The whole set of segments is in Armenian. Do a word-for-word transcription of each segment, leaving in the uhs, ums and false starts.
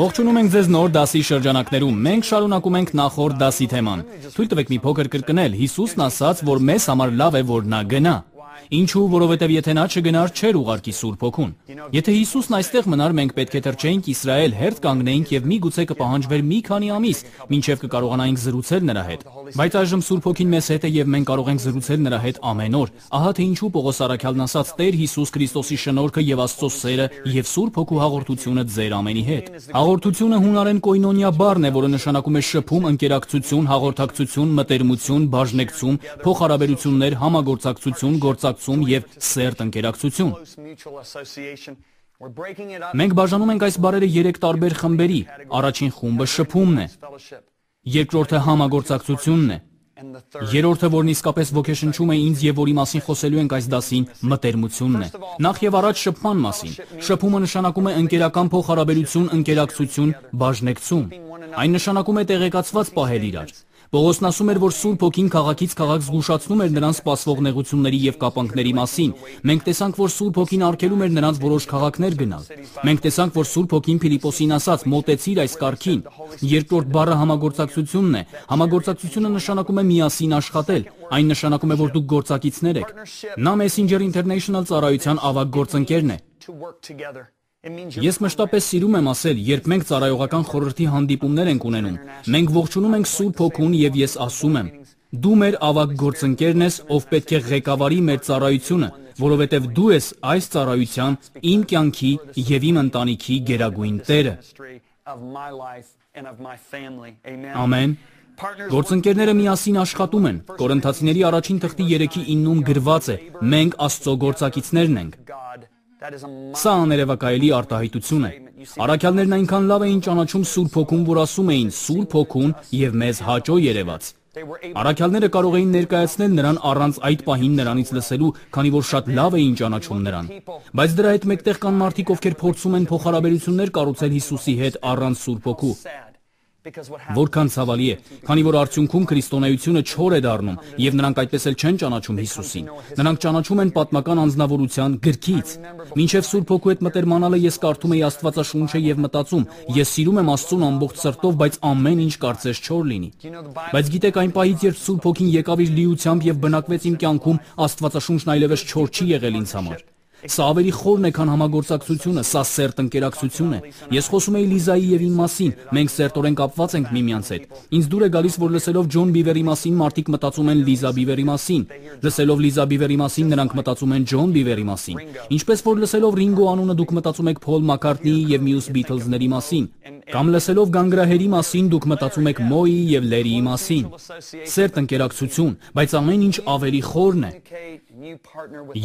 Ողջունում ենք ձեզ նոր դասի շրջանակներում։ Մենք շարունակում ենք նախորդ դասի թեման։ Թույլ տվեք մի փոքր կրկնել։ Հիսուսն ասաց, որ մեզ համար լավ է, որ նա գնա։ Ինչու, որովհետև եթե նա չգնար, չէր ուղարկի Սուրբ Հոգուն։ Եթե Հիսուսն այստեղ մնար, մենք պետք է թռչեինք Իսրայել, հերթ կանգնեինք եւ միգուցե կպահանջվեր մի քանի ամիս, մինչեւ կկարողանայինք զրուցել նրա հետ։ Բայց այժմ Սուրբ Հոգին մեզ հետ է եւ մենք կարող ենք զրուցել նրա հետ ամեն օր։ Ահա թե ինչու Պողոս առաքյալն ասաց. Տեր Հիսուս Քրիստոսի շնորհքը եւ Աստծո սերը եւ Սուրբ Հոգու հաղորդությունը ձեր ամենի հետ։ Հաղորդությունը հունարեն կոյնոնիա բառն է, որը նշանակում է շփում, ընկերակցություն, հաղորդակցություն, մտերմություն, բաժնեկցում, փոխհարաբերություններ, համագործակցություն, գործակցություն եւ սերտ ընկերակցություն։ Մենք բաժանում ենք այս բառերը երեք տարբեր խմբերի։ Առաջին խումբը շփումն է, երկրորդը համագործակցությունն է, երրորդը, որն իսկապես ոգեշնչում է ինձ եւ որի մասին խոսելու ենք այս դասին, մտերմությունն է։ Նախ եւ առաջ շփման մասին։ Շփումը նշանակում է ընկերական փոխհարաբերություն, ընկերակցություն, բաժնեկցում։ Այն նշանակում է տեղեկացված պահել իրար։ Պողոսն ասում էր, որ Սուրբ Հոգին քաղաքից քաղաք զգուշացնում էր նրանց սպասվող նեղությունների եւ կապանքների մասին։ Մենք տեսանք, որ Սուրբ Հոգին արգելում էր նրանց որոշ քաղաքներ գնալ։ Մենք տեսանք, որ Սուրբ Հոգին Փիլիպոսին ասաց. «Մոտեցիր այս կարգին»։ Երկրորդ բառը համագործակցությունն է։ Համագործակցությունը նշանակում է միասին աշխատել։ Այն նշանակում է, որ դուք գործակիցներ եք։ Նա Messenger International ծառայության ավագ գործընկերն է։ Ես մշտապես սիրում եմ ասել, երբ մենք ծառայողական խորհրդի հանդիպումներ ենք ունենում, մենք ողջունում ենք Սուրբ Հոգուն եւ ես ասում եմ. դու մեր ավագ գործընկերն ես, ով պետք է ղեկավարի մեր ծառայությունը, որովհետեւ դու ես այս ծառայության իմ կյանքի եւ իմ ընտանիքի գերագույն Տերը։ Ամեն։ Գործընկերները միասին աշխատում են։ Կորինթացիների առաջին թղթի երեքի իննում գրված է. մենք Աստծո գործակիցներն ենք։ Սա աներևակայելի արտահայտություն է։ Առաքյալներն այնքան լավ էին ճանաչում Սուրբ Հոգուն, որ ասում էին. Սուրբ Հոգուն եւ մեզ հաճո երևաց։ Առաքյալները կարող էին ներկայացնել նրան առանց այդ պահին նրանից լսելու, քանի որ շատ լավ էին ճանաչում նրան։ Բայց դրա հետ մեկտեղ կան մարդիկ, ովքեր փորձում են փոխհարաբերություններ կառուցել Հիսուսի հետ առանց Սուրբ Հոգու։ Որքան ցավալի է, քանի որ արդյունքում քրիստոնեությունը չոր է դառնում եւ նրանք այդպես էլ չեն ճանաչում Հիսուսին։ Նրանք ճանաչում են պատմական անձնավորության գրքից։ Մինչև Սուրբ Հոգու հետ մտերմանալը ես կարդում էի Աստվածաշունչը եւ մտածում. ես սիրում եմ Աստծուն ամբողջ սրտով, բայց ամեն ինչ կարծես չոր լինի։ Բայց գիտեք, այն պահից, երբ Սուրբ Հոգին եկավ իր լիությամբ եւ բնակվեց իմ կյանքում, Աստվածաշունչն այլևս չոր չի եղել ինձ համար։ Սա ավելի խորն է, քան համագործակցությունը, սա սերտ ընկերակցություն է։ Ես խոսում էի Լիզայի եւ իմ մասին, մենք սերտորեն կապված ենք միմյանց հետ։ Ինձ դուր է գալիս, որ լսելով Ջոն Բիվերի մասին մարդիկ մտածում են Լիզա Բիվերի մասին։ Լսելով Լիզա Բիվերի մասին նրանք մտածում են Ջոն Բիվերի մասին։ Ինչպես որ լսելով Ռինգո անունը դուք մտածում եք Փոլ Մակքարտնիի եւ մյուս Բիթլզների մասին։ Կամ լսելով գանգրահերի մասին դուք մտածում եք Մոյի եւ Լերիի մասին։ Սերտ ընկերակցություն, բայց ամեն ինչ ավելի խորն է։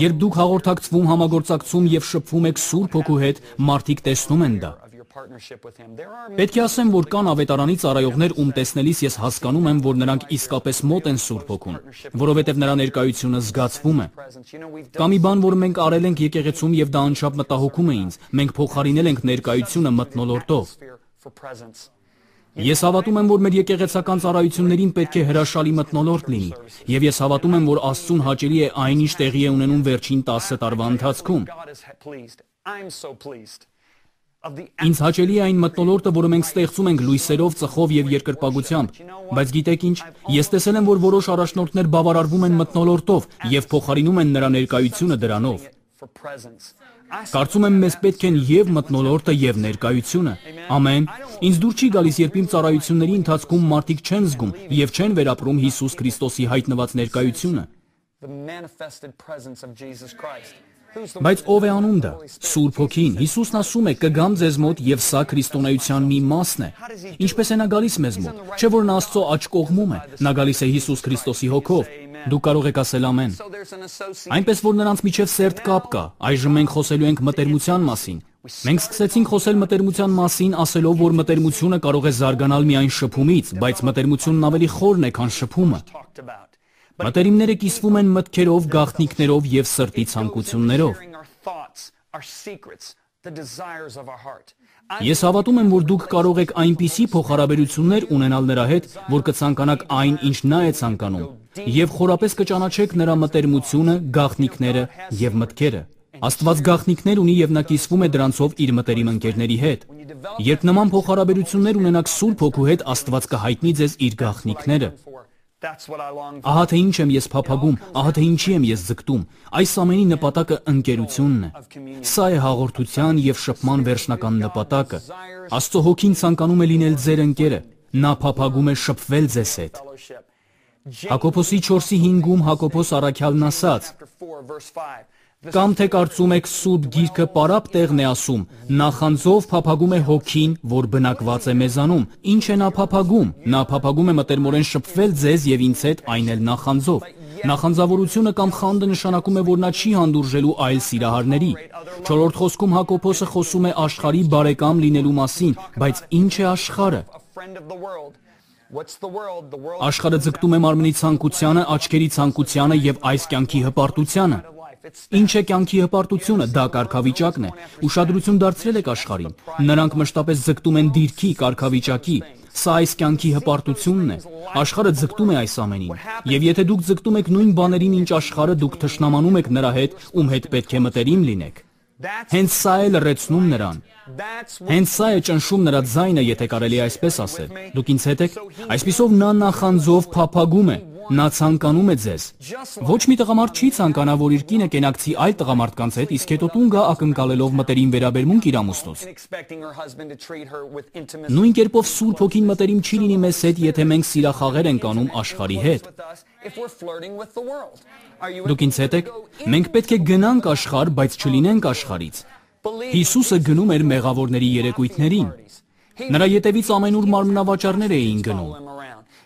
Երբ դուք հաղորդակցվում, համագործակցում եւ շփվում եք Սուրբ Հոգու հետ, մարդիկ տեսնում են դա։ Պետք է ասեմ, որ կան ավետարանի ծառայողներ, ում տեսնելիս ես հասկանում եմ, որ նրանք իսկապես մոտ են Սուրբ Հոգուն, որովհետև նրա ներկայությունը զգացվում է։ Կա մի բան, որ մենք արել ենք եկեղեցում եւ դա անչափ մտահոգում է ինձ։ Մենք փոխարինել ենք ներկայությունը մթնոլորտով։ Ես հավատում եմ, որ մեր եկեղեցական ծառայություններին պետք է հրաշալի մթնոլորտ լինի, եւ ես հավատում եմ, որ Աստծուն հաճելի է այն, ինչ տեղի է ունենում վերջին տասը տարվա ընթացքում։ Ինձ հաճելի է այն մթնոլորտը, որը մենք ստեղծում ենք լույսերով, ծխով եւ երկրպագությամբ, բայց գիտեք ինչ, ես տեսել եմ, որ որոշ առաջնորդներ բավարարվում են մթնոլորտով եւ փոխարինում են նրա ներկայությունը դրանով։ Կարծում եմ, մեզ պետք են եւ մթնոլորտը եւ ներկայությունը։ Ամեն։ Ինձ դուր չի գալիս, երբ իմ ծառայությունների ընթացքում մարդիկ չեն զգում եւ չեն վերապրում Հիսուս Քրիստոսի հայտնված ներկայությունը։ Բայց ով է անում դա։ Սուրբ Հոգին։ Հիսուսն ասում է. կգամ ձեզ մոտ եւ սա քրիստոնեության մի մասն է։ Ինչպես է նա գալիս մեզ մոտ։ Չէ՞ որ նա Աստծո աջ կողմում է։ Նա գալիս է Հիսուս Քրիստոսի հոգով։ Դուք կարող եք ասել ամեն։ Այնպես որ նրանց միջև սերտ կապ կա։ Այժմ մենք խոսելու ենք մտերմության մասին։ Մենք սկսեցինք խոսել մտերմության մասին, ասելով, որ մտերմությունը կարող է զարգանալ միայն շփումից, բայց մտերմությունն ավելի խորն է, քան շփումը։ Մտերիմները կիսվում են մտքերով, գաղտնիքներով եւ սրտի ցանկություններով։ Ես հավատում եմ, որ դուք կարող եք այնպիսի փոխհարաբերություններ ունենալ նրա հետ, որ կցանկանաք այն, ինչ նա է ցանկանում, եւ խորապես կճանաչեք նրա մտերմությունը, գաղտնիքները եւ մտքերը։ Աստված գաղտնիքներ ունի եւ նա կիսվում է դրանցով իր մտերիմ ընկերների հետ։ Երբ նման փոխհարաբերություններ ունենաք Սուրբ Հոգու հետ, Աստված կհայտնի ձեզ իր գաղտնիքները։ Ահա թե ինչ եմ ես փափագում, ահա թե ինչի եմ ես ձգտում։ Այս ամենի նպատակը ընկերությունն է։ Սա է հաղորդության եւ շփման վերջնական նպատակը։ Աստծո Հոգին ցանկանում է լինել ձեր ընկերը։ Նա փափագում է շփվել ձեզ հետ։ Հակոբոսի չորսի հինգում Հակոբոս առաքյալն ասաց. Կամ թե կարծում եք Սուրբ Գիրքը պարապ տեղն է ասում, նախանձով փափագում է Հոգին, որ բնակված է մեզանում։ Ինչ է նա փափագում։ Նա փափագում է մտերմորեն շփվել ձեզ եւ ինձ հետ, այն էլ նախանձով։ Նախանձավորությունը կամ խանդը նշանակում է, որ նա չի հանդուրժելու այլ սիրահարների։ Չորրորդ խոսքում Հակոբոսը խոսում է աշխարհի բարեկամ լինելու մասին, բայց ինչ է աշխարհը։ Աշխարհը ձգտում է մարմնի ցանկությանը, աչքերի ցանկությանը եւ այս կյանքի հպարտությանը։ Ինչ է կյանքի հպարտությունը, դա կարգավիճակն է։ Ուշադրություն դարձրել եք աշխարհին։ Նրանք մշտապես ձգտում են դիրքի, կարգավիճակի։ Սա այս կյանքի հպարտությունն է։ Աշխարհը ձգտում է այս ամենին։ Եվ եթե դուք ձգտում եք նույն բաներին, ինչ աշխարհը, դուք թշնամանում եք նրա հետ, ում հետ պետք է մտերիմ լինեք։ Հենց սա է լրացնում նրան։ Հենց սա է ճնշում նրա ձայնը, եթե կարելի է այսպես ասել։ Դուք ինձ հետ եք։ Այսպիսով նա նախանձով փափագում է։ Նա ցանկանում է ձեզ։ Ոչ մի տղամարդ չի ցանկանա, որ իր կինը կենակցի այլ տղամարդկանց հետ, իսկ հետո տուն գա ակնկալելով մտերիմ վերաբերմունք իր ամուսնուց։ Նույն կերպով Սուրբ Հոգին մտերիմ չի լինի մեզ հետ, եթե մենք սիրախաղեր ենք անում աշխարհի հետ։ Դուք ինձ հետ եք։ Մենք պետք է գնանք աշխարհ, բայց չլինենք աշխարհից։ Հիսուսը գնում էր մեղավորների երեկույթներին։ Նրա ետևից ամենուր մարմնավաճառներ էին գնում։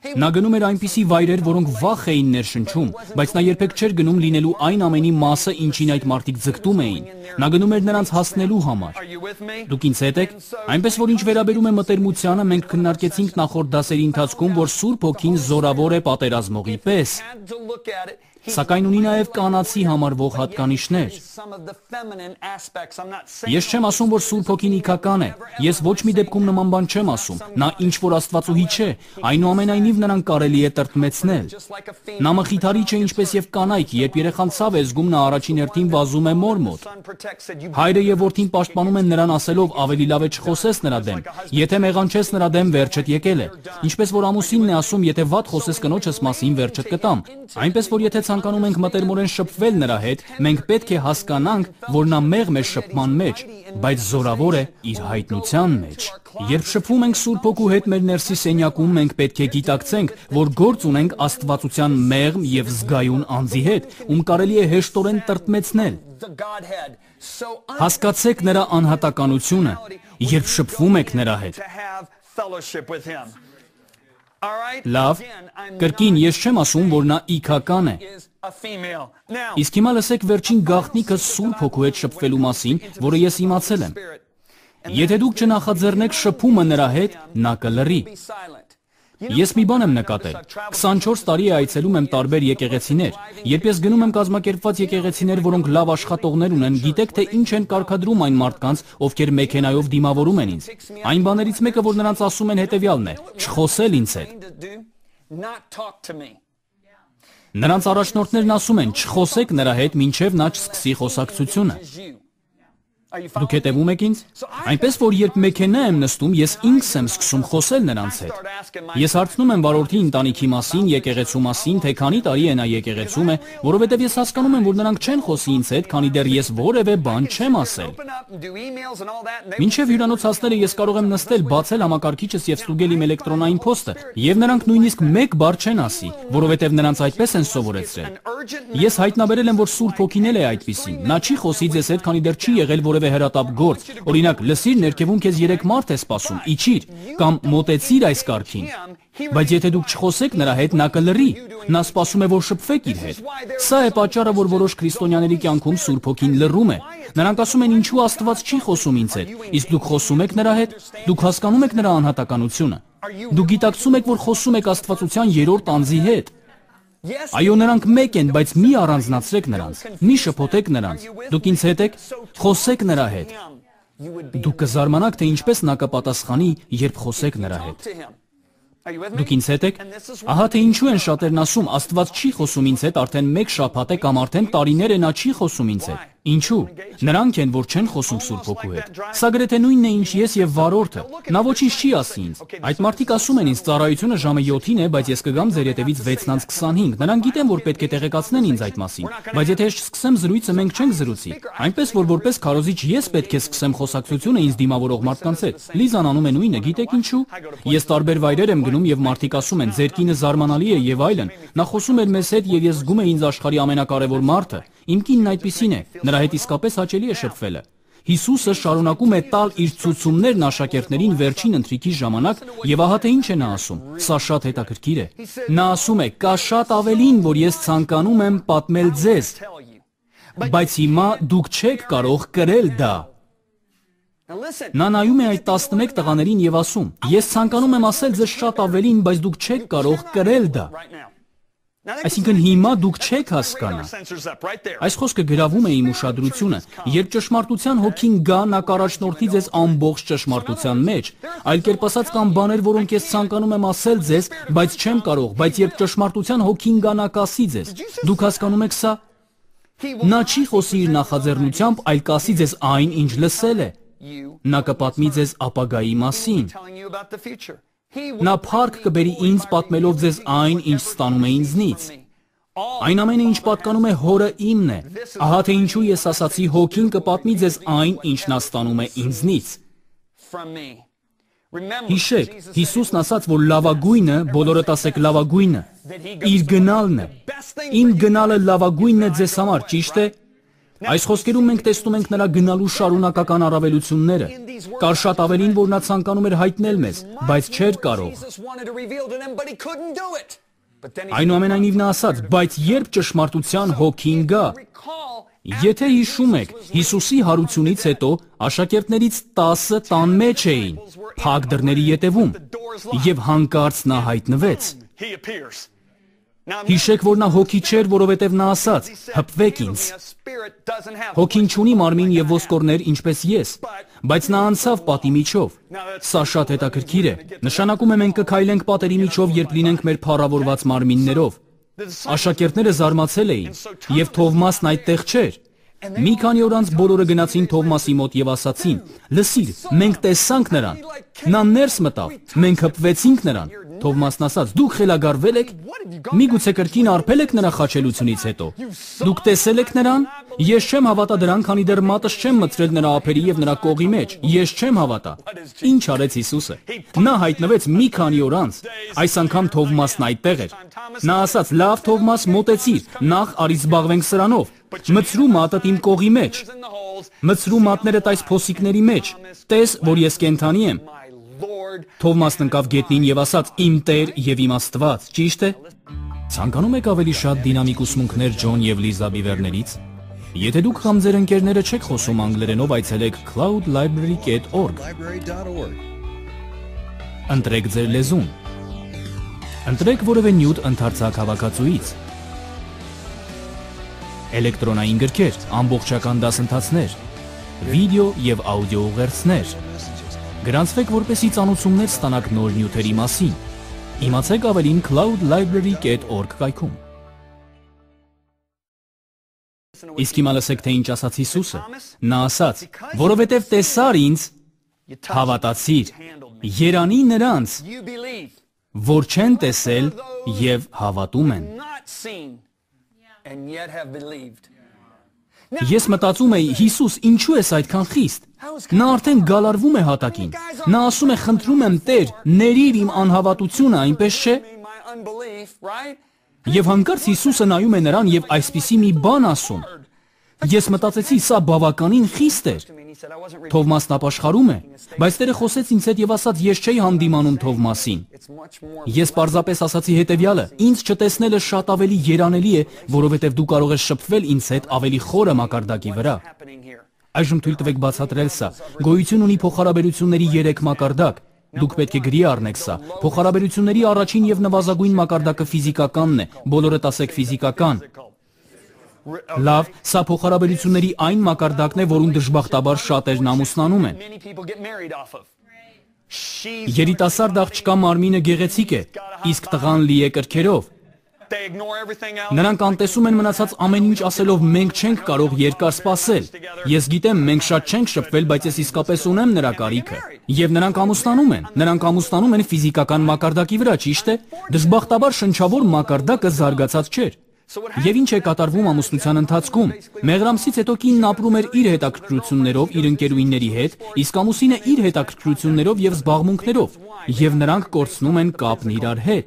Նա գնում էր այնպիսի վայրեր, որոնք վախ էին ներշնչում, բայց նա երբեք չէր գնում լինելու այն ամենի մասը, ինչին այդ մարդիկ ձգտում էին։ Նա գնում էր նրանց հասնելու համար։ Դուք ինձ հետ եք։ Այնպես որ ինչ վերաբերում է մտերմությանը, մենք քննարկեցինք նախորդ դասերի ընթացքում, որ Սուրբ Հոգին զորավոր է պատերազմողի պես, սակայն ունի նաև կանացի համարվող հատկանիշներ։ Ես չեմ ասում, որ Սուրբ Հոգին իքական է։ Ես ոչ մի դեպքում նման բան չեմ ասում։ Նա ինչ որ Աստվածուհի չէ, այնուամենայնիվ նրան կարելի է տրտմեցնել։ Նա մխիթարիչ է ինչպես եւ կանայք, երբ երեխան ցավ է զգում, նա առաջին հերթին վազում է մոր մոտ։ Հայրը եւ որդին պաշտպանում են նրան ասելով ավելի լավ է չխոսես նրա դեմ։ Եթե մեղանչես նրա դեմ, վերջդ եկել է։ Ինչպես որ ամուսինն է ասում, եթե վատ խոսես կնոջս մասին, վերջդ կտամ։ Այնպես որ եթե ցանկանում ենք մտերմորեն շփվել նրա հետ, մենք պետք է հասկանանք, որ նա մեղմ է շփման մեջ, բայց զորավոր է իր հայտնության մեջ։ Երբ շփվում ենք Սուրբ Հոգու հետ մեր ներսի սենյակում, մենք պետք է գիտակցենք, որ գործ ունենք աստվածության մեղմ եւ զգայուն անձի հետ, ում կարելի է հեշտորեն տրտմեցնել։ Հասկացեք նրա անհատականությունը, երբ շփվում եք նրա հետ։ Լավ, կրկին ես չեմ ասում, որ նա իքական է։ Իսկ հիմա լսեք վերջին գաղտնիքը Սուրբ Հոգու հետ շփվելու մասին, որը ես իմացել եմ։ Եթե դուք չնախաձեռնեք շփումը նրա հետ, նա կլռի։ Ես մի բան եմ նկատել։ քսանչորս տարի է այցելում եմ տարբեր եկեղեցիներ։ Երբ ես գնում եմ կազմակերպված եկեղեցիներ, որոնք լավ աշխատողներ ունեն, գիտեք թե ինչ են կարգադրում այն մարդկանց, ովքեր մեքենայով դիմավորում են ինձ։ Այն բաներից մեկը, որ նրանց ասում են, հետևյալն է՝ չխոսել ինձ հետ։ Նրանց առաջնորդներն ասում են՝ չխոսեք նրա հետ, մինչև նա չսկսի խոսակցությունը։ Դուք հետևում եք ինձ։ Այնպես որ երբ մեքենա եմ նստում, ես ինքս եմ սկսում խոսել նրանց հետ։ Ես հարցնում եմ վարորդի ընտանիքի մասին, եկեղեցու մասին, թե քանի տարի է նա եկեղեցում է, որովհետև ես հասկանում եմ, որ նրանք չեն խոսի ինձ հետ, քանի դեռ ես որևէ բան չեմ ասել։ Մինչև հյուրանոց հասնելը ես կարող եմ նստել, բացել համակարգիչս եւ ստուգել իմ էլեկտրոնային փոստը, եւ նրանք նույնիսկ մեկ բառ չեն ասի, որովհետև նրանց այդպես են սովորեցրել։ Ես հայտնաբերել եմ, որ Սուրբ Հոգին էլ է այդպիսին։ Նա չի խոսի ձեզ հետ, քանի դեռ չի եղել որևէ հրատապ գործ, օրինակ, լսիր, ներքևում քեզ երեք մարդ է սպասում, իջիր, կամ մոտեցիր այս կարգին։ Բայց եթե դուք չխոսեք նրա հետ, նա կլռի։ Նա սպասում է, որ շփվեք իր հետ։ Սա է պատճառը, որ որոշ քրիստոնյաների կյանքում Սուրբ Հոգին լռում է։ Նրանք ասում են, ինչու Աստված չի խոսում ինձ հետ։ Իսկ դուք խոսում եք նրա հետ։ Դուք հասկանում եք նրա անհատականությունը։ Դուք գիտակցում եք, որ խոսում եք Աստվածության երրորդ անձի հետ։ Այո, նրանք մեկ են, բայց մի առանձնացրեք նրանց, մի շփոթեք նրանց։ Դուք ինձ հետ եք, խոսեք նրա հետ։ Դուք կզարմանաք, թե ինչպես նա կպատասխանի, երբ խոսեք նրա հետ։ Դուք ինձ հետ եք։ Ահա թե ինչու են շատերն ասում, Աստված չի խոսում ինձ հետ, արդեն մեկ շաբաթ է կամ արդեն տարիներ է նա չի խոսում ինձ հետ։ Ինչու՞։ Նրանք են, որ չեն խոսում Սուրբ Հոգու հետ։ Սա գրեթե նույնն է, ինչ ես եւ վարորդը։ Նա ոչինչ չի ասի ինձ։ Այդ մարդիկ ասում են ինձ ծառայությունը ժամը յոթին է, բայց ես կգամ ձեր հետևից վեցն քսանհինգ։ Նրանք գիտեն, որ պետք է տեղեկացնեն ինձ այդ մասին։ Բայց եթե ես չսկսեմ զրույցը, մենք չենք զրուցի։ Այնպես որ որպես քարոզիչ ես պետք է սկսեմ խոսակցությունը ինձ դիմավորող մարդկանց հետ։ Լիզան անում է նույնը, գիտեք ինչու։ Ես տարբեր վայրեր եմ գնում եւ մարդիկ ասում են ձեր կինը զարմանալի է եւ այլն։ Նա խոսում էր մեզ հետ եւ ես զգում եմ ինձ աշխարհի ամենակարևոր մարդը։ Իմ կինն այդպիսին է, նրա հետ իսկապես հաճելի է շփվելը։ Հիսուսը շարունակում է տալ իր ցուցումներն աշակերտներին վերջին ընթրիքի ժամանակ եւ ահա թե ինչ է նա ասում։ Սա շատ հետաքրքիր է։ Նա ասում է. «Կա շատ ավելին, որ ես ցանկանում եմ պատմել ձեզ, բայց հիմա դուք չեք կարող կրել դա»։ Նա նայում է այդ տասնմեկ տղաներին եւ ասում. «Ես ցանկանում եմ ասել ձեզ շատ ավելին, բայց դուք չեք կարող կրել դա»։ Այսինքն հիմա դուք չեք հասկանա։ Այս խոսքը գրավում է իմ ուշադրությունը, երբ ճշմարտության հոգին գա, նա կառաջնորդի ձեզ ամբողջ ճշմարտության մեջ։ Այլ կերպ ասած, կան բաներ, որոնք ես ցանկանում եմ ասել ձեզ, բայց չեմ կարող, բայց երբ ճշմարտության հոգին գա, նա կասի ձեզ։ Դուք հասկանում եք սա։ Նա չի խոսի իր նախաձեռնությամբ, այլ կասի ձեզ այն, ինչ լսել է։ Նա կպատմի ձեզ ապագայի մասին։ Նա փառք կբերի ինձ պատմելով ձեզ այն, ինչ ստանում է ինձնից։ Այն ամենը, ինչ պատկանում է Հորը իմն է։ Ահա թե ինչու ես ասացի հոգին կպատմի ձեզ այն, ինչ նա ստանում է ինձնից։ Հիշեք, Հիսուսն ասաց, որ լավագույնը, բոլորդ ասեք լավագույնը, իր գնալն է։ Իմ գնալը լավագույնն է ձեզ համար, ճիշտ է։ Այս խոսքերում մենք տեսնում ենք նրա գնալու շարունակական առավելությունները։ Կար շատ ավելին, որ նա ցանկանում էր հայտնել մեզ, բայց չէր կարող։ Այնուամենայնիվ նա ասաց. «Բայց երբ ճշմարտության հոգին գա»։ Եթե հիշում եք, Հիսուսի հարությունից հետո աշակերտներից տասը տան մեջ էին, փակ դռների ետևում, եւ հանկարծ նա հայտնվեց։ Հիշեք, որ նա հոգի չէր, որովհետև նա ասաց. «Հպվեք ինձ»։ Հոգին չունի մարմին եւ ոսկորներ, ինչպես ես, բայց նա անցավ պատի միջով։ Սա շատ հետաքրքիր է։ Նշանակում է մենք կքայլենք պատերի միջով, երբ լինենք մեր փառավորված մարմիններով։ Աշակերտները զարմացել էին, եւ Թովմասն այդտեղ չէր։ Մի քանի օր անց բոլորը գնացին Թովմասի մոտ եւ ասացին. «Լսիր, մենք տեսանք նրան։ Նա ներս մտավ, մենք հպվեցինք նրան»։ Թովմասն ասաց. «Դուք խելագարվել եք։ Միգուցե կրկին արբել եք նրա խաչելությունից հետո։ Դուք տեսել եք նրան։ Ես չեմ հավատա դրան, քանի դեռ մատս չեմ մտցրել նրա ափերի եւ նրա կողի մեջ։ Ես չեմ հավատա»։ Ինչ արեց Հիսուսը։ Նա հայտնվեց մի քանի օր անց։ Այս անգամ Թովմասն այդտեղ էր։ Նա ասաց. «Լավ, Թովմաս, մոտեցիր, նախ արի զբաղվենք սրանով։ Մցրու մատդ իմ կողի մեջ։ Մցրու մատներդ այս փոսիկների մեջ։ Տես, որ ես կենդանի եմ»։ Թովմասն ընկավ գետնին եւ ասաց. «Իմ Տեր եւ իմ Աստված», ճիշտ է։ Ցանկանում եք ավելի շատ դինամիկ ուսմունքներ Ջոն եւ Լիզա Բիվերներից։ Եթե դուք կամ ձեր ընկերները չեք խոսում անգլերենով, այցելեք cloud library dot org։ Ընտրեք ձեր լեզուն։ Ընտրեք որևէ նյութ ընդարձակ հավաքածուից։ Էլեկտրոնային գրքեր, ամբողջական դասընթացներ, վիդեո եւ աուդիո ուղերձներ։ Գրանցվեք, որպեսզի ծանոթություններ ստանաք նոր նյութերի մասին։ Իմացեք ավելին cloud library dot org կայքում։ Իսկ հիմա լսեք, թե ինչ ասաց Հիսուսը։ Նա ասաց. «Որովհետև տեսար ինձ, հավատացիր, երանի նրանց, որ չեն տեսել եւ հավատում են»։ Ես մտածում էի, Հիսուս, ինչու ես այդքան խիստ։ Նա արդեն գալարվում է հատակին։ Նա ասում է. «Խնդրում եմ, Տեր, ներիր իմ անհավատությունը», այնպես չէ։ Եվ հանկարծ Հիսուսը նայում է նրան եւ այսպիսի մի բան ասում։ Ես մտածեցի, սա բավականին խիստ էր։ Թովմասն ապաշխարում է, բայց Տերը խոսեց ինձ հետ եւ ասաց. «Ես չէի հանդիմանում Թովմասին»։ Ես պարզապես ասացի հետեւյալը. «Ինձ չտեսնելը շատ ավելի երանելի է, որովհետեւ դու կարող ես շփվել ինձ հետ ավելի խորը մակարդակի վրա»։ Այժմ թույլ տվեք բացատրել սա։ Գոյություն ունի փոխհարաբերությունների երեք մակարդակ։ Դուք պետք է գրի առնեք սա։ Փոխհարաբերությունների առաջին եւ նվազագույն մակարդակը ֆիզիկականն է։ Բոլորդ ասեք ֆիզիկական։ Լավ, սա փոխհարաբերությունների այն մակարդակն է, որում դժբախտաբար շատերն ամուսնանում են։ Երիտասարդ աղջկա մարմինը գեղեցիկ է, իսկ տղան լի է կրքերով։ Նրանք անտեսում են մնացած ամեն ինչ ասելով մենք չենք կարող երկար սպասել։ Ես գիտեմ, մենք շատ չենք շփվել, բայց ես իսկապես ունեմ նրա կարիքը։ Եվ նրանք ամուսնանում են։ Նրանք ամուսնանում են ֆիզիկական մակարդակի վրա, ճիշտ է։ Դժբախտաբար շնչավոր մակարդակը զարգացած չէր։ Եվ ինչ է կատարվում ամուսնության ընթացքում։ Մեղրամսից հետո կինն ապրում էր իր հետաքրքրություններով, իր ընկերուհիների հետ, իսկ ամուսինը իր հետաքրքրություններով եւ զբաղմունքներով, եւ նրանք կորցնում են կապն իրար հետ։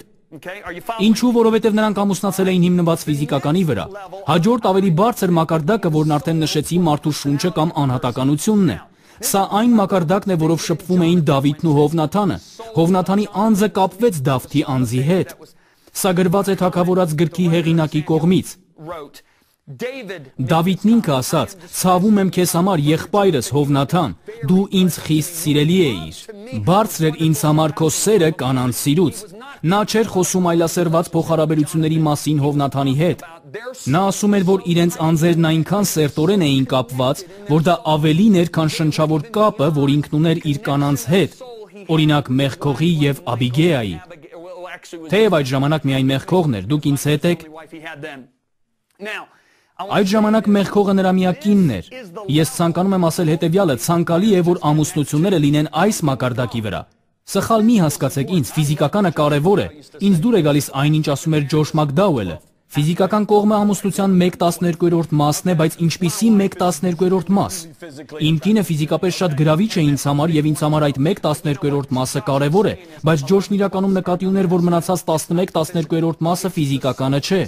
Ինչու, որովհետև նրանք ամուսնացել էին հիմնված ֆիզիկականի վրա։ Հաջորդ ավելի բարձր մակարդակը, որն արդեն նշեցի, մարդու շունչը կամ անհատականությունն է։ Սա այն մակարդակն է, որով շփվում էին Դավիթն ու Հովնաթանը։ Հովնաթանի անձը կապվեց Դավթի անձի հետ։ Սա գրված է թագավորած գրքի հեղինակի կողմից։ Դավիթն ինքը ասաց. «Ցավում եմ քեզ համար, եղբայրս Հովնաթան, դու ինձ խիստ սիրելի էիր։ Բարձր էր ինձ համար քո սերը կանանց սիրուց»։ Նա չէր խոսում այլասերված փոխհարաբերությունների մասին Հովնաթանի հետ։ Նա ասում էր, որ իրենց անձերն այնքան սերտորեն էին կապված, որ դա ավելին էր, քան շնչավոր կապը, որ ինքն ուներ իր կանանց հետ, օրինակ Մեղքողի եւ Աբիգեայի։ Թեև այդ ժամանակ միայն Մեղքողն էր, դուք ինձ հետ եք։ Այդ ժամանակ Մեղքողը նրա միակ կինն էր։ Ես ցանկանում եմ ասել հետևյալը. ցանկալի է, որ ամուսնությունները լինեն այս մակարդակի վրա։ Սխալ մի հասկացեք ինձ, ֆիզիկականը կարևոր է։ Ինձ դուր է գալիս այն, ինչ ասում էր Ջորջ Մակդաուելը։ Ֆիզիկական կողմը ամուսնության մեկ տասներկուերորդ մասն է, բայց ինչպիսի մեկ տասներկուերորդ մաս։ Իմ կինը ֆիզիկապես շատ գրավիչ է ինձ համար եւ ինձ համար այդ մեկ տասներկուերորդ մասը կարևոր է, բայց Ջորջն իրականում նկատի ուներ, որ մնացած տասնմեկ տասներկուերորդ մասը ֆիզիկականը չէ։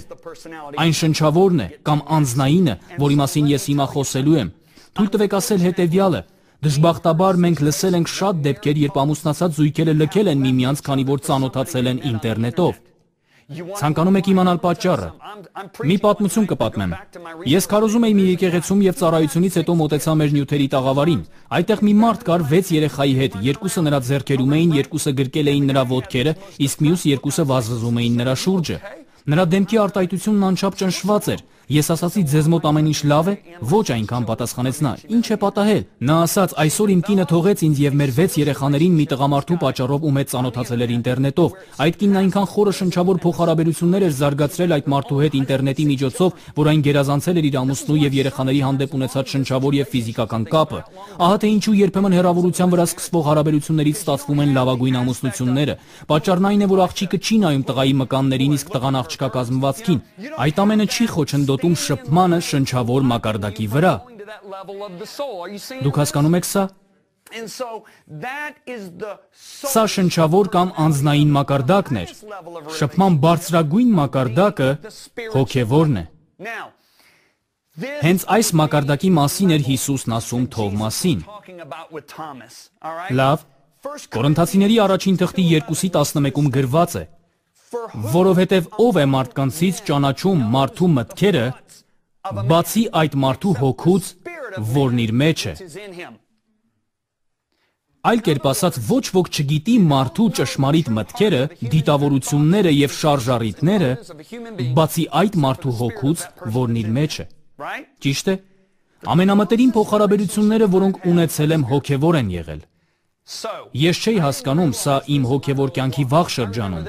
Այն շնչավորն է կամ անձնայինը, որի մասին ես հիմա խոսելու եմ։ Թույլ տվեք ասել հետեւյալը. դժբախտաբար մենք լսել ենք շատ դեպքեր, երբ ամուսնացած զույգերը լքել են միմյանց, քանի որ ծանոթացել են ինտերնետով։ Ցանկանում եք իմանալ պատճառը։ Մի պատմություն կպատմեմ։ Ես քարոզում էի մի եկեղեցում եւ ծառայությունից հետո մոտեցա մեր նյութերի տաղավարին։ Այդտեղ մի մարդ կար վեց երեխայի հետ, երկուսը նրա ձեռքերում էին, երկուսը գրկել էին նրա ոտքերը, իսկ մյուս երկուսը վազվզում էին նրա շուրջը։ Նրա դեմքի արտահայտությունն անչափ ճնշված էր։ Ես ասացի, ձեզ մոտ ամեն ինչ լավ է։ Ոչ այնքան, պատասխանեց նա։ Ինչ է պատահել։ Նա ասաց, այսօր իմ կինը թողեց ինձ եւ մեր վեց երեխաներին մի տղամարդու պատճառով ում հետ ծանոթացել էր ինտերնետով։ Այդ կինն այնքան խորը շնչավոր փոխհարաբերություններ էր զարգացրել այդ մարդու հետ ինտերնետի միջոցով, որ այն գերազանցել էր իր ամուսնու եւ երեխաների հանդեպ ունեցած շնչավոր եւ ֆիզիկական կապը։ Ահա թե ինչու երբեմն հեռավորության վրա սկսվող հարաբերություններից ստացվում են լավագույն ամուսնությունները։ Պատճառն այն է, որ աղջիկը չի նայում տղայի մկաններին, իսկ տղան աղջկա կազմվածքին։ Այդ ամենը չի խոչընդոտում շփմանը շնչավոր մակարդակի վրա։ Դուք հասկանում եք սա։ Սա շնչավոր կամ անձնային մակարդակն էր։ Շփման բարձրագույն մակարդակը հոգևորն է։ Հենց այս մակարդակի մասին էր Հիսուսն ասում Թովմասին։ Լավ, Կորինթացիների առաջին թղթի երկուսի տասնմեկում գրված է. որովհետև ով է մարդկանցից ճանաչում մարդու մտքերը, բացի այդ մարդու հոգուց, որն իր մեջ է։ Այլ կերպ ասած, ոչ ոք չգիտի մարդու ճշմարիտ մտքերը, դիտավորությունները եւ շարժառիթները, բացի այդ մարդու հոգուց, որն իր մեջ է։ Ճիշտ է։ Ամենամտերիմ փոխհարաբերությունները, որոնք ունեցել եմ, հոգևոր են եղել։ Ես չէի հասկանում, սա իմ հոգևոր կյանքի վաղ շրջանում։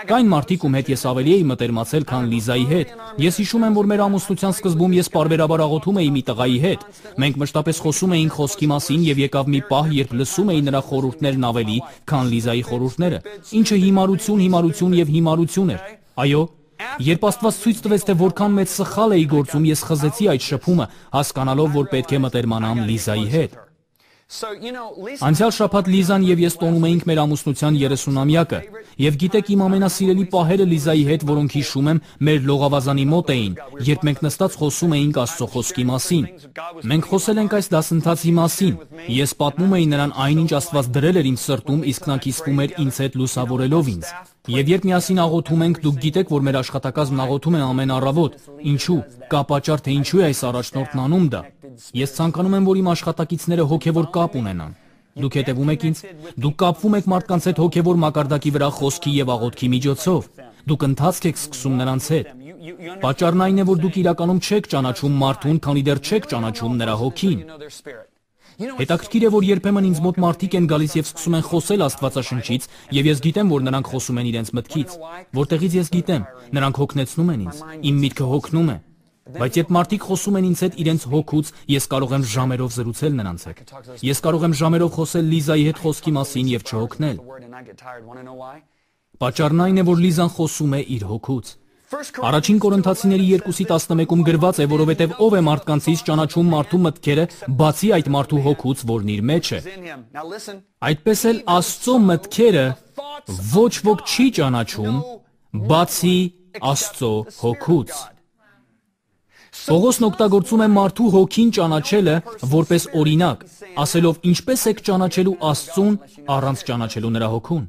Կային մարդիկ, ում հետ ես ավելի էի մտերմացել, քան Լիզայի հետ։ Ես հիշում եմ, որ մեր ամուսնության սկզբում ես պարբերաբար աղոթում էի մի տղայի հետ։ Մենք մշտապես խոսում էինք խոսքի մասին եւ եկավ մի պահ, երբ լսում էի նրա խորհուրդներն ավելի, քան Լիզայի խորհուրդները, ինչը հիմարություն, հիմարություն եւ հիմարություն էր։ Այո, երբ Աստված ցույց տվեց, թե որքան մեծ սխալ էի գործում, ես խզեցի այդ շփումը, հասկանալով, որ պետք է մտերմանամ Լիզայի հետ։ Անցյալ շաբաթ Լիզան եւ ես տոնում էինք մեր ամուսնության երեսունամյակը, եւ գիտեք իմ ամենասիրելի պահերը Լիզայի հետ, որոնք հիշում եմ, մեր լողավազանի մոտ էին, երբ մենք նստած խոսում էինք Աստծո խոսքի մասին։ Մենք խոսել ենք այս դասընթացի մասին։ Ես պատմում էի նրան այն, ինչ Աստված դրել էր իմ սրտում, իսկ նա կիսվում էր ինձ հետ լուսավորելով ինձ։ Եվ երբ միասին աղոթում ենք, դուք գիտեք, որ մեր աշխատակազմն աղոթում է ամեն առավոտ։ Ինչու՞։ Կա պատճառ, թե ինչու է այս առաջնորդն անում դա։ Ես ցանկանում եմ, որ իմ աշխատակիցները հոգևոր կապ ունենան։ Դուք հետևում եք ինձ։ Դուք կապվում եք մարդկանց հետ հոգևոր մակարդակի վրա խոսքի եւ աղոթքի միջոցով։ Դուք ընթացք եք սկսում նրանց հետ։ Պատճառն այն է, որ դուք իրականում չեք ճանաչում մարդուն, քանի դեռ չեք ճանաչում նրա հոգին։ Հետաքրքիր է, որ երբեմն ինձ մոտ մարդիկ են գալիս եւ սկսում են խոսել Աստվածաշնչից, եւ ես գիտեմ, որ նրանք խոսում են իրենց մտքից, որտեղից ես գիտեմ, նրանք հոգնեցնում են ինձ, իմ միտքը հոգնում է։ Բայց երբ մարդիկ խոսում են ինձ հետ իրենց հոգուց, ես կարող եմ ժամերով զրուցել նրանց հետ։ Ես կարող եմ ժամերով խոսել Լիզայի հետ խոսքի մասին եւ չհոգնել։ Պատճառն այն է, որ Լիզան խոսում է իր հոգուց։ Առաջին Կորինթացիների երկուսի տասնմեկում գրված է, որովհետև ով է մարդկանցից ճանաչում մարդու մտքերը, բացի այդ մարդու հոգուց, որն իր մեջ է։ Այդպես էլ Աստծո մտքերը ոչ ոք չի ճանաչում, բացի Աստծո հոգուց։ Պողոսն օգտագործում է մարդու հոգին ճանաչելը որպես օրինակ, ասելով ինչպես եք ճանաչելու Աստծուն առանց ճանաչելու նրա հոգուն,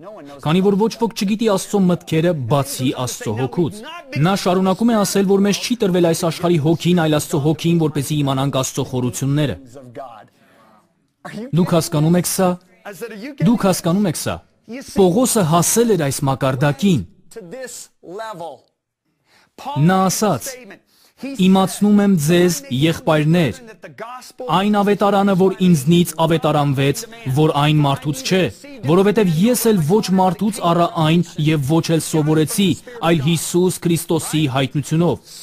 քանի որ ոչ ոք չգիտի Աստծո մտքերը բացի Աստծո հոգուց։ Նա շարունակում է ասել, որ մեզ չի տրվել այս աշխարհի հոգին, այլ Աստծո հոգին, որպեսզի իմանանք Աստծո խորությունները։ Դուք հասկանում եք սա։ Դուք հասկանում եք սա։ Պողոսը հասել էր այս մակարդակին։ Նա ասաց. Իմացնում եմ ձեզ, եղբայրներ, այն ավետարանը, որ ինձնից ավետարանվեց, որ այն մարդուց չէ, որովհետև ես էլ ոչ մարդուց առա այն և ոչ էլ սովորեցի, այլ Հիսուս Քրիստոսի հայտնությունով։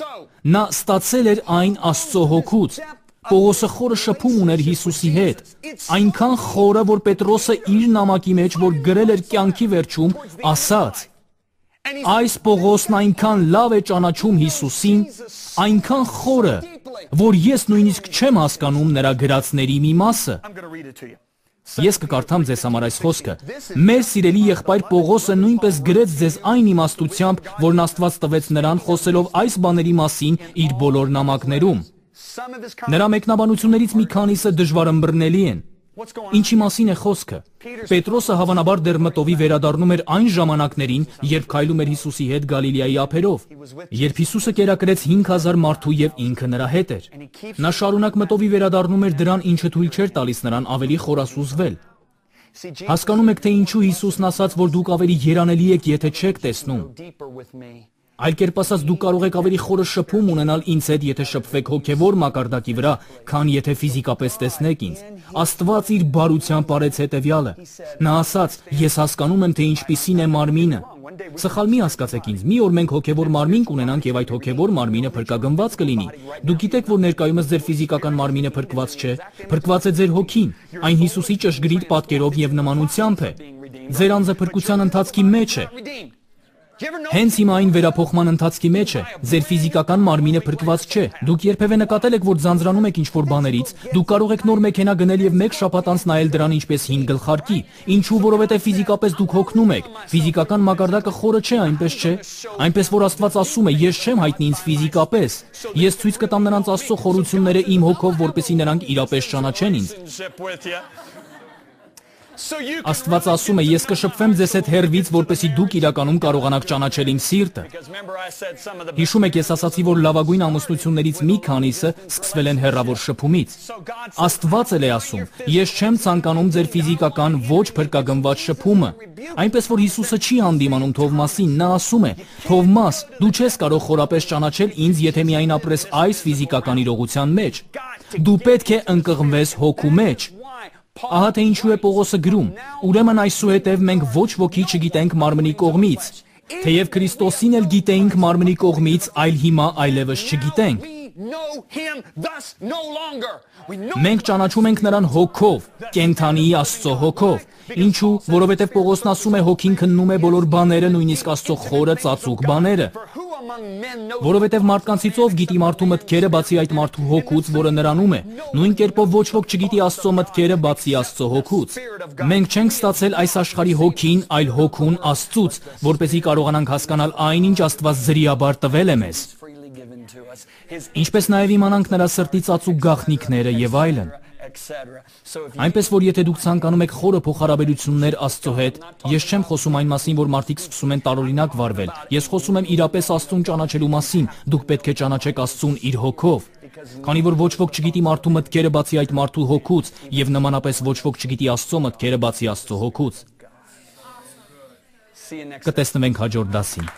Նա ստացել էր այն Աստծո հոգուց։ Պողոսը խորը շփում ուներ Հիսուսի հետ, այնքան խորը, որ Պետրոսը իր նամակի մեջ, որ գրել էր կյանքի վերջում, ասաց. Այս Պողոսն այնքան լավ է ճանաչում Հիսուսին, այնքան խորը, որ ես նույնիսկ չեմ հասկանում նրա գրածների մի մասը։ Ես կկարդամ ձեզ համար այս խոսքը։ Մեր սիրելի եղբայր Պողոսը նույնպես գրեց ձեզ այն իմաստությամբ, որն Աստված տվեց նրան խոսելով այս բաների մասին իր բոլոր նամակներում։ Նրա մեկնաբանություններից մի քանիսը դժվարըմբռնելի են։ Ինչի մասին է խոսքը։ Պետրոսը հավանաբար դեռ մտովի վերադառնում էր այն ժամանակներին, երբ քայլում էր Հիսուսի հետ Գալիլեայի ափերով, երբ Հիսուսը կերակրեց հինգ հազար մարդու եւ ինքը նրա հետ էր։ Նա շարունակ մտովի վերադառնում էր դրան, ինչը թույլ չէր տալիս նրան ավելի խորասուզվել։ Հասկանում եք, թե ինչու Հիսուսն ասաց, որ դուք ավելի երանելի եք, եթե չեք տեսնում։ Այլ կերպ ասած, դուք կարող եք ավելի խորը շփում ունենալ ինձ հետ, եթե շփվեք հոգևոր մակարդակի վրա, քան եթե ֆիզիկապես տեսնեք ինձ։ Աստված իր բարությամբ արեց հետևյալը։ Նա ասաց. Ես հասկանում եմ, թե ինչպիսին է մարմինը։ Սխալ մի հասկացեք ինձ, մի օր մենք հոգևոր մարմին կունենանք եւ այդ հոգևոր մարմինը փրկագնված կլինի։ Դուք գիտեք, որ ներկայումս ձեր ֆիզիկական մարմինը փրկված չէ, փրկված է ձեր հոգին։ Այն Հիսուսի ճշգրիտ պատկերով եւ նմանությամբ է։ Ձեր անձը փրկության ընթացքի մեջ է։ Հենց հիմա այն վերափոխման ընթացքի մեջ է, ձեր ֆիզիկական մարմինը փրկված չէ։ Դուք երբևէ նկատել եք, որ ձանձրանում եք ինչ-որ բաներից, դուք կարող եք նոր մեքենա գնել եւ մեկ շաբաթ անց նայել դրան ինչպես հին գլխարկի։ Ինչու, որովհետեւ ֆիզիկապես դուք հոգնում եք։ Ֆիզիկական մակարդակը խորը չէ, այնպես չէ։ Այնպես որ Աստված ասում է, ես չեմ հայտնի ինձ ֆիզիկապես։ Ես ցույց կտամ նրանց Աստծո խորությունները իմ հոգով, որպեսզի նրանք իրապես ճանաչեն ինձ։ Աստված ասում է, ես կշփվեմ ձեզ հետ հեռվից, որպեսզի դուք իրականում կարողանաք ճանաչել իմ սիրտը։ Հիշում եք, ես ասացի, որ լավագույն ամուսնություններից մի քանիսը սկսվել են հեռավոր շփումից։ Աստված էլ է ասում, ես չեմ ցանկանում ձեր ֆիզիկական ոչ փրկագնված շփումը։ Այնպես որ Հիսուսը չի հանդիմանում Թովմասին, նա ասում է. Թովմաս, դու չես կարող խորապես ճանաչել ինձ, եթե միայն ապրես այս ֆիզիկական իրողության մեջ։ Դու պետք է ընկղմվես հոգու մեջ։ Ահա թե ինչու է Պողոսը գրում. Ուրեմն այսուհետև մենք ոչ ոքի չգիտենք մարմնի կողմից, թեև Քրիստոսին էլ գիտեինք մարմնի կողմից, այլ հիմա այլևս չգիտենք։ Մենք ճանաչում ենք նրան հոգով, կենդանի Աստծո հոգով։ Ինչու, որովհետև Պողոսն ասում է հոգին քննում է բոլոր բաները, նույնիսկ Աստծո խորը ծածուկ բաները։ Որովհետև մարդկանցից ով գիտի մարդու մտքերը բացի այդ մարդու հոգուց, որը նրանում է։ Նույն կերպով ոչ ոք չգիտի Աստծո մտքերը բացի Աստծո հոգուց։ Մենք չենք ստացել այս աշխարհի հոգին, այլ հոգուն Աստծուց, որպեսզի կարողանանք հասկանալ այն, ինչ Աստված զրիաբար տվել է մեզ։ Ինչպես նաև իմանանք նրա սրտի ծածուկ գաղտնիքները եւ այլն։ Այնպես որ եթե դուք ցանկանում եք խորը փոխհարաբերություններ Աստծո հետ, ես չեմ խոսում այն մասին, որ մարդիկ սկսում են տարօրինակ վարվել։ Ես խոսում եմ իրապես Աստծուն ճանաչելու մասին։ Դուք պետք է ճանաչեք Աստծուն իր հոգով։ Քանի որ ոչ ոք չգիտի մարդու մտքերը բացի այդ մարդու հոգուց, եւ նմանապես ոչ ոք չգիտի Աստծո մտքերը բացի Աստծո հոգուց։ Կտեսնվենք հաջորդ դասին։